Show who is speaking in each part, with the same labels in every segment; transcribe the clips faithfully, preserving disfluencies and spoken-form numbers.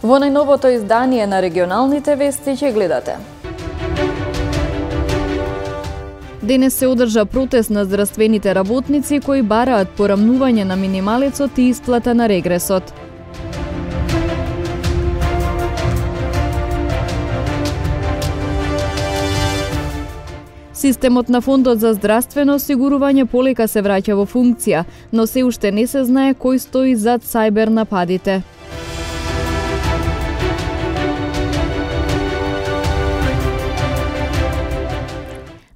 Speaker 1: Во најновото издание на регионалните вести ќе гледате. Денес се одржа протест на здравствените работници кои бараат порамнување на минималецот и исплата на регресот. Системот на Фондот за здравствено осигурување полека се враќа во функција, но се уште не се знае кој стои зад сајбер нападите.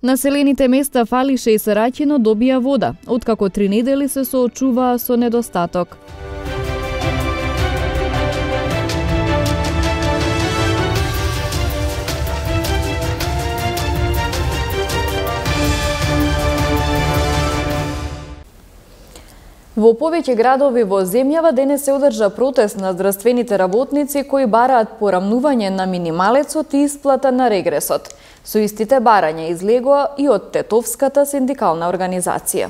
Speaker 1: Населените места Фалише и Сараќино добија вода, откако три недели се соочуваа со недостаток. Во повеќе градови во земјава денес се одржа протест на здравствените работници кои бараат порамнување на минималецот и исплата на регресот. Со истите барања излегоа и од Тетовската синдикална организација.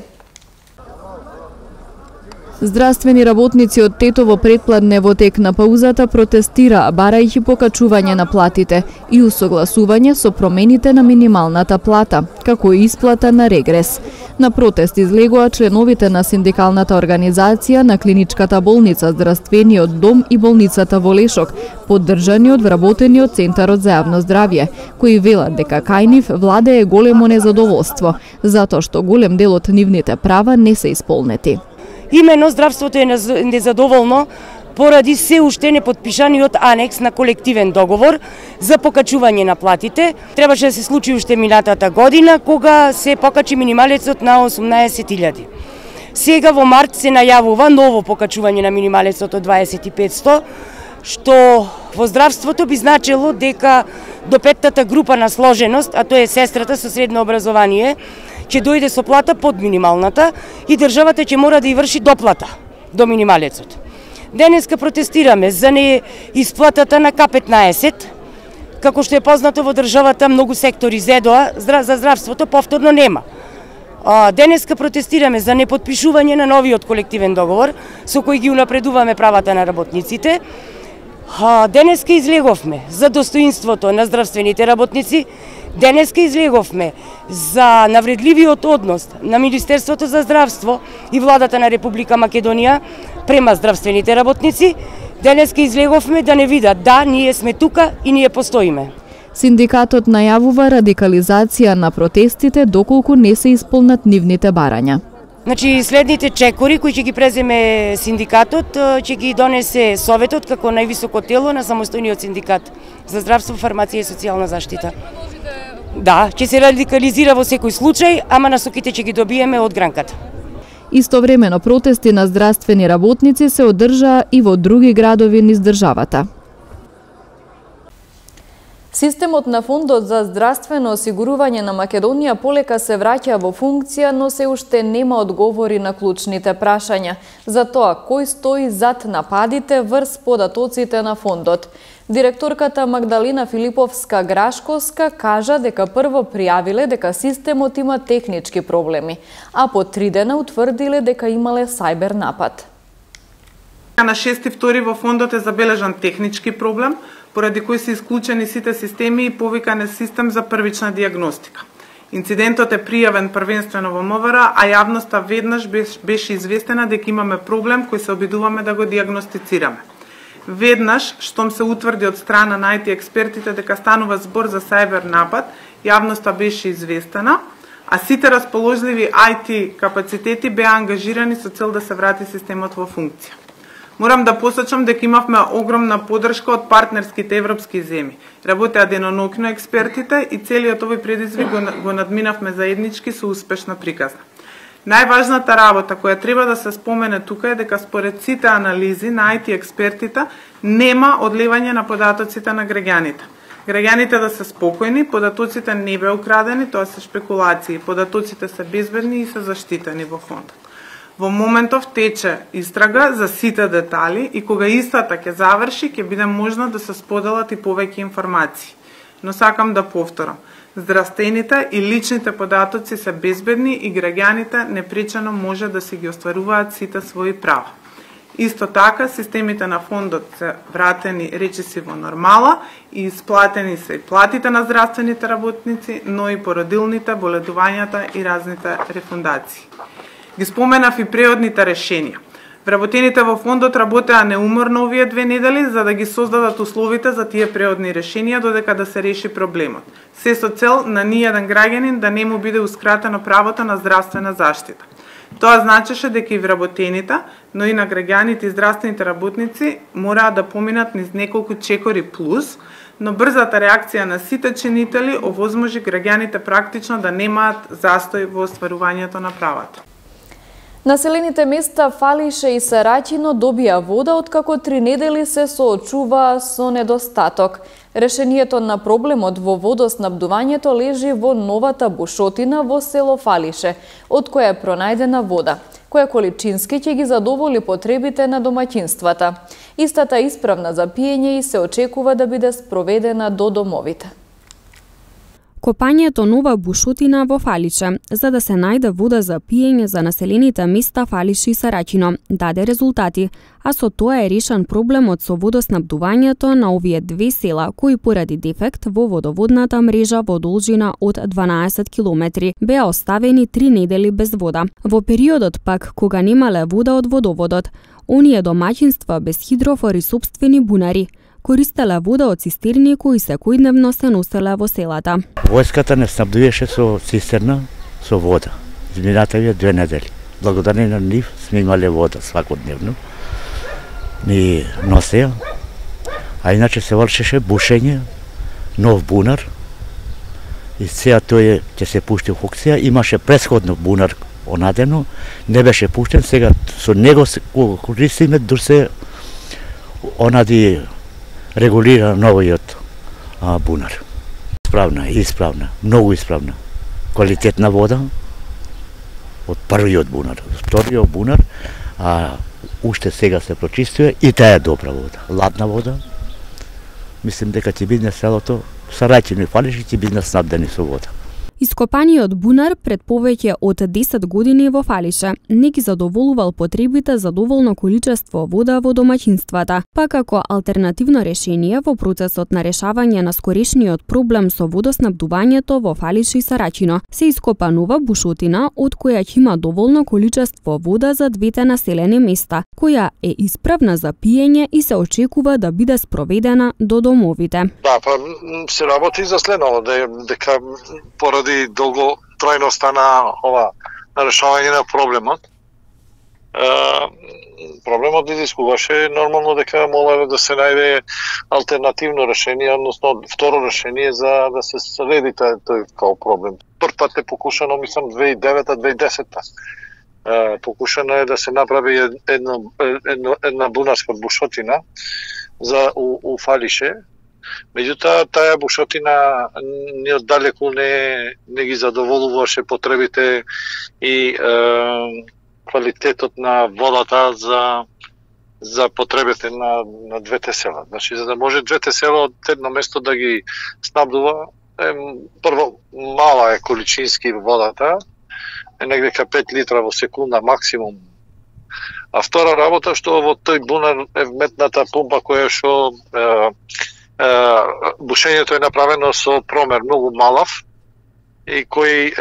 Speaker 1: Здравствени работници од Тетово предпладне во тек на паузата протестираа барајќи покачување на платите и усогласување со промените на минималната плата, како и исплата на регрес. На протест излегоа членовите на синдикалната организација на Клиничката болница, Здравствениот дом и болницата во Лешок, поддржани од вработениот Центарот за јавно здравје, кои велат дека кај нив владее големо незадоволство, затоа што голем дел од нивните права не се исполнети.
Speaker 2: Имено здравството е незадоволно поради се уште непотпишаниот анекс на колективен договор за покачување на платите. Требаше да се случи уште минатата година, кога се покачи минималецот на осумнаесет илјади. Сега во март се најавува ново покачување на минималецот од дваесет и петсто, што во здравството би значило дека до петтата група на сложеност, а тоа е сестрата со средно образование, ќе дојде со плата под минималната и државата ќе мора да ја врши доплата до минималецот. Денеска протестираме за не исплатата на К петнаесет, како што е познато во државата многу сектори зедоа, за здравството повторно нема. Денеска протестираме за непотпишување на новиот колективен договор со кој ги унапредуваме правата на работниците. Денеска излеговме за достоинството на здравствените работници. Денеска излеговме за навредливиот однос на Министерството за здравство и владата на Република Македонија према здравствените работници. Денеска излеговме да не видат да, ние сме тука и ние постоиме.
Speaker 1: Синдикатот најавува радикализација на протестите доколку не се исполнат нивните барања.
Speaker 2: Значи, следните чекори кои ќе ги преземе синдикатот, ќе ги донесе Советот како највисоко тело на самостојниот синдикат за здравство, фармација и социјална заштита. Да, ќе се радикализира во секој случај, ама насоките ќе ги добиеме од гранката.
Speaker 1: Истовремено протести на здравствени работници се одржаа и во други градови низ државата. Системот на Фондот за здравствено осигурување на Македонија полека се враќа во функција, но се уште нема одговори на клучните прашања за тоа кој стои зад нападите врз податоците на фондот. Директорката Магдалина Филиповска-Грашковска кажа дека прво пријавиле дека системот има технички проблеми, а по три дена утврдиле дека имале сајбер напад.
Speaker 3: На шести втори во фондот е забележан технички проблем, поради кој се исклучени сите системи и повикан е систем за првична диагностика. Инцидентот е пријавен првенствено во МВР, а јавноста веднаш беше известена дека имаме проблем кој се обидуваме да го диагностицираме. Веднаш, штом се утврди од страна на ай ти експертите дека станува збор за сајбер напад, јавноста беше известена, а сите расположливи ай ти капацитети беа ангажирани со цел да се врати системот во функција. Морам да посочам дека имавме огромна поддршка од партнерските европски земји. Работеа деноноќно експертите и целиот овој предизвик го, го надминавме заеднички со успешна приказна. Најважната работа која треба да се спомене тука е дека според сите анализи на ай ти експертите нема одливање на податоците на граѓаните. Граѓаните да се спокојни, податоците не беа украдени, тоа се шпекулации, податоците се безбедни и се заштитени во фондот. Во моментов тече истрага за сите детали и кога истата ќе заврши, ќе биде можно да се споделат и повеќе информации. Но сакам да повторам, здравствените и личните податоци се безбедни и граѓаните непречено може да си ги остваруваат сите своји права. Исто така, системите на фондот се вратени речиси во нормала и исплатени се и платите на здравствените работници, но и породилните, боледувањата и разните рефундации. Ги споменав и преодните решенија. Вработените во фондот работеа неуморно овие две недели за да ги создадат условите за тие преодни решенија додека да се реши проблемот. Се со цел на ниједен граѓанин да не му биде ускратено правото на здравствена заштита. Тоа значеше дека и вработените, но и на граѓаните и здравствените работници мораа да поминат низ неколку чекори плюс, но брзата реакција на сите чинители овозможи граѓаните практично да немаат застој во остварувањето на правата.
Speaker 1: Населените места Фалише и Сараќино добија вода откако три недели се соочуваа со недостаток. Решението на проблемот во водоснабдувањето лежи во новата бушотина во село Фалише, од која е пронајдена вода, која количински ќе ги задоволи потребите на домаќинствата. Истата е исправна за пиење и се очекува да биде спроведена до домовите.
Speaker 4: Копањето нова бушотина во Фалише, за да се најде вода за пиење за населените места Фалише и Сараќино, даде резултати, а со тоа е решен проблемот со водоснабдувањето на овие две села, кои поради дефект во водоводната мрежа во должина од дванаесет километри беа оставени три недели без вода. Во периодот пак, кога немале вода од водоводот, оние домаќинства без хидрофор и сопствени бунари користела вода од цистерни кои секојдневно се носеле во селата.
Speaker 5: Војската не снабдуваше со цистерна со вода. Изминативе две недели. Благодарение на нив сме имале вода свакодневно. Ни носеа. А иначе се вршеше бушење, нов бунар. И сега тој ќе се пушти во функција. Имаше претходно бунар онадено, не беше пуштен, сега со него се користиме дур се онади регулира новиот а, бунар. Исправна, исправна, многу исправна. Квалитетна вода од првиот бунар. Вториот бунар, а уште сега се прочистува и таа е добра вода. Ладна вода. Мислим дека ќе биде селото Сараќино и Фалише ќе биде снабдени со вода.
Speaker 4: Ископаниот бунар пред повеќе од десет години во Фалише не ги задоволувал потребите за доволно количество вода во домаќинствата, па како алтернативно решение во процесот на решавање на скорешниот проблем со водоснабдувањето во Фалише и Сараќино се ископа нова бушотина од која ќе има доволно количество вода за двете населени места, која е исправна за пиење и се очекува да биде спроведена до домовите.
Speaker 6: Да, па се работи за следно, дека поради долго трајноста на ова на решавање на проблемот. Е, проблемот изискуваше нормално дека молеле да се најде алтернативно решение, односно второ решение за да се следи тој као проблем. Прв пат е покушано, мислам, две илјади и девета - две илјади и десета. Е, покушано е да се направи една, една, една бунарска бушотина за у, у Фалише. Меѓутоа, таа бушотина ни оддалеку не, не ги задоволуваше потребите и е, квалитетот на водата за за потребите на, на двете села. Значи, за да може двете села од едно место да ги снабдува, е, прво, мала е количински водата, е негде ка пет литра во секунда максимум. А втора работа, што во тој бунар е вметната пумпа која што е, бушењето е направено со промер многу малав и кој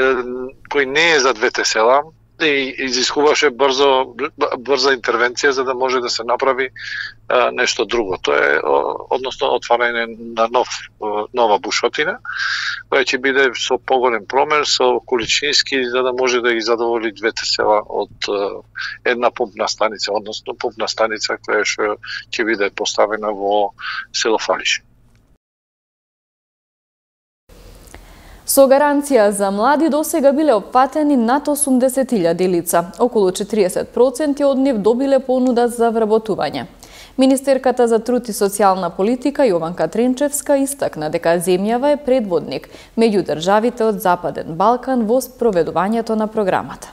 Speaker 6: кој не е за двете села и изискуваше брзо брза интервенција за да може да се направи а, нешто друго. Тоа е односно отварање на нов нова бушотина која ќе биде со поголем промер, со количински за да може да ги задоволи двете села од а, една пумпна станица, односно пумпна станица која што ќе биде поставена во село Фалише.
Speaker 1: Со гаранција за млади досега биле опфатени над осумдесет илјади лица. Околу четириесет проценти од нив добиле понуда за вработување. Министерката за труд и социјална политика Јованка Тренчевска истакна дека земјава е предводник меѓу државите од Западен Балкан во спроведувањето на програмата.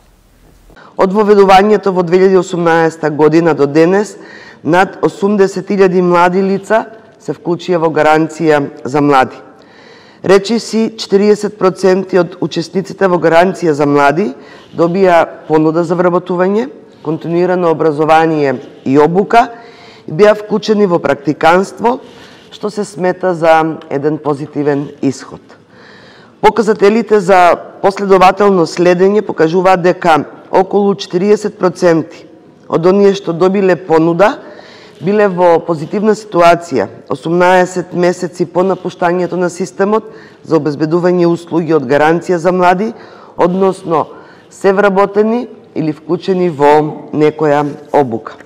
Speaker 7: Од воведувањето во две илјади и осумнаесета година до денес над осумдесет илјади млади лица се вклучија во гаранција за млади. Речиси четириесет проценти од учесниците во гаранција за млади добија понуда за вработување континуирано образование и обука и беа вклучени во практиканство, што се смета за еден позитивен исход. Показателите за последователно следење покажуваат дека околу четириесет проценти од оние што добиле понуда биле во позитивна ситуација осумнаесет месеци по напуштањето на системот за обезбедување услуги од гаранција за млади, односно се вработени или вклучени во некоја обука.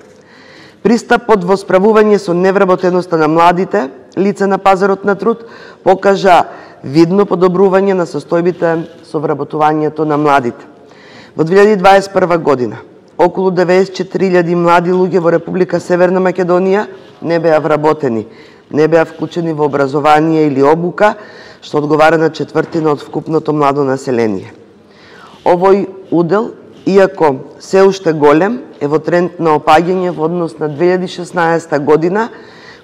Speaker 7: Пристапот во справување со невработеноста на младите лица на пазарот на труд покажа видно подобрување на состојбите со вработувањето на младите. Во две илјади дваесет и прва година околу деветдесет и четири илјади млади луѓе во Република Северна Македонија не беа вработени, не беа вклучени во образование или обука, што одговара на четвртина од вкупното младо население. Овој удел, иако се уште голем, е во тренд на опаѓање во однос на две илјади шеснаесета година,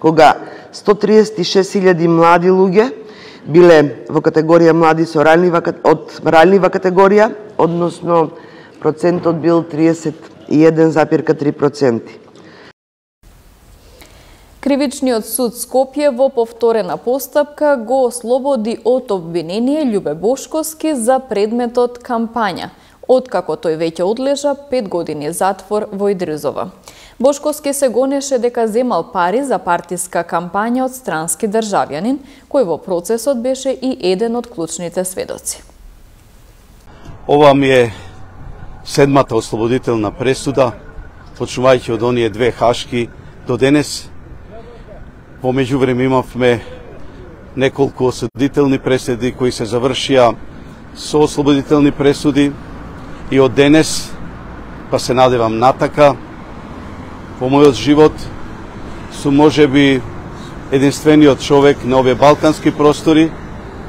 Speaker 7: кога сто триесет и шест илјади млади луѓе биле во категорија млади со ранлива, од ранлива категорија, односно процентот бил триесет и еден запир три проценти.
Speaker 1: Кривичниот суд Скопје во повторена постапка го ослободи од обвинение Љубе Бошковски за предметот кампања, откако тој веќе одлежа пет години затвор во Идризова. Бошковски се гонеше дека земал пари за партиска кампања од странски државјанин, кој во процесот беше и еден од клучните сведоци.
Speaker 8: Ова ми е седмата ослободителна пресуда, почнувајќи од оние две хашки до денес. Во меѓувреме имавме неколку осудителни пресуди кои се завршија со ослободителни пресуди и од денес, па се надевам натака, во мојот живот сум можеби единствениот човек на овие балкански простори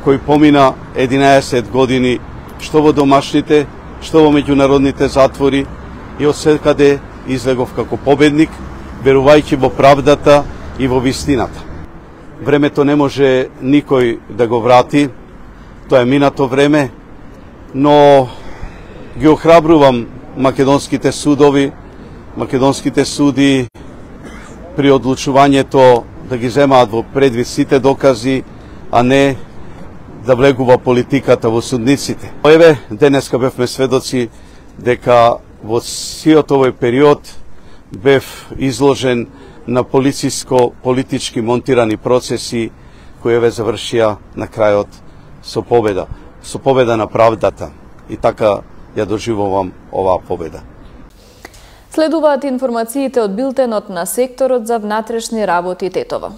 Speaker 8: кој помина единаесет години што во домашните, што во меѓународните затвори и од секаде излегов како победник, верувајќи во правдата и во вистината. Времето не може никој да го врати, тоа е минато време, но ги охрабрувам македонските судови, македонските суди при одлучувањето да ги земаат во предвид сите докази, а не да влегува политиката во судниците. Еве, денеска бевме сведоци дека во сиот овој период бев изложен на полициско-политички монтирани процеси кои еве завршија на крајот со победа, со победа на правдата. И така ја доживувам оваа победа.
Speaker 1: Следуваат информациите од билтенот на секторот за внатрешни работи Тетово.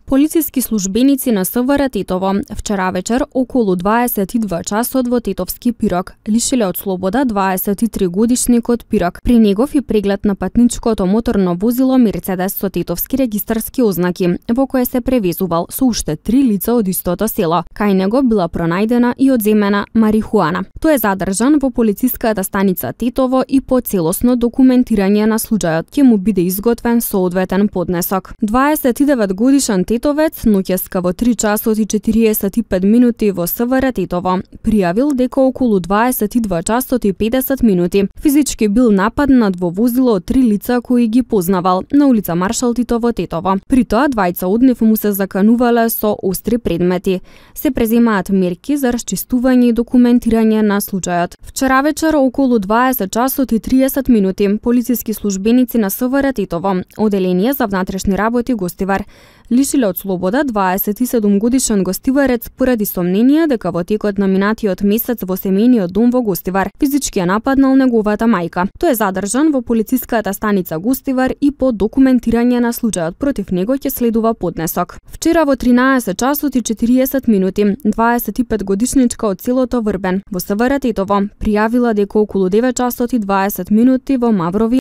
Speaker 4: Полициски службеници на СВР Тетово вчера вечер околу дваесет и два часот во Тетовски Пирок лишиле од слобода дваесет и три годишникот Пирок при негов и преглед на патничкото моторно возило Мерцедес со тетовски регистарски ознаки, во кое се превезувал со уште три лица од истото село. Кај него била пронајдена и одземена марихуана. Тој е задржан во полициската станица Тетово и по целосно документирање на случајот ќе му биде изготвен соодветен поднесок. дваесет и девет годишен Тетовец ноќеска во три часот и четириесет и пет минути во СВР Тетово пријавил дека околу дваесет и два часот и педесет минути физички бил нападнат во возило од три лица кои ги познавал на улица Маршал Тито во Тетово. При тоа двајца од нив му се заканувале со остри предмети. Се преземаат мерки за расчистување и документирање на случајот. Вчера вечер околу дваесет часот и триесет минути полициски службеници на СВР Тетово, оделение за внатрешни работи Гостивар, лишиле од слобода дваесет и седум годишен гостиварец поради сомнение дека во текот на минатиот месец во семејниот дом во Гостивар физички ја нападнал неговата мајка. Тој е задржан во полициската станица Гостивар и по документирање на случајот против него ќе следува поднесок. Вчера во тринаесет часот и четириесет минути дваесет и пет годишничка од селото Врбен во СВР Тетово пријавила дека околу девет часот и дваесет минути во Маврови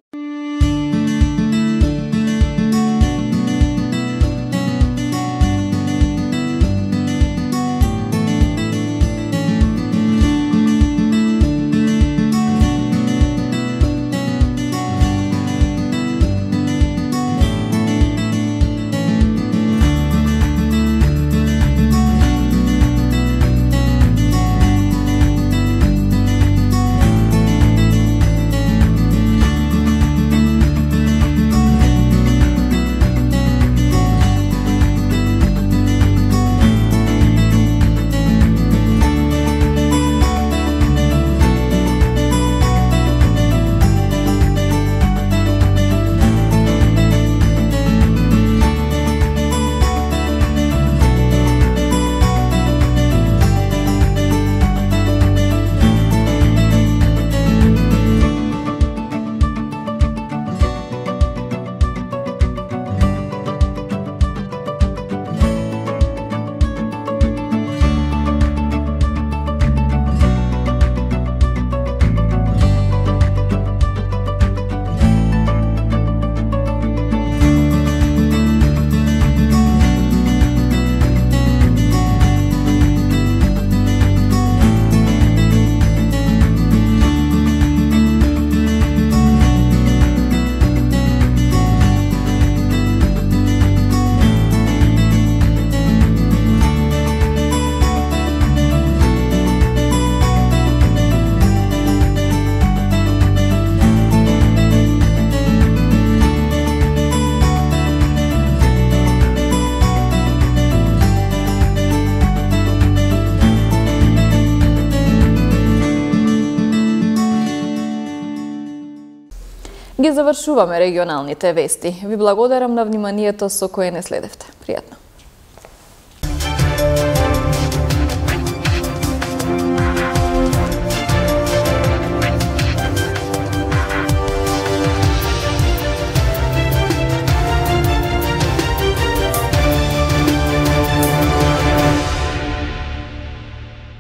Speaker 1: Ги завршуваме регионалните вести. Ви благодарам на вниманието со кое не следевте. Пријатно.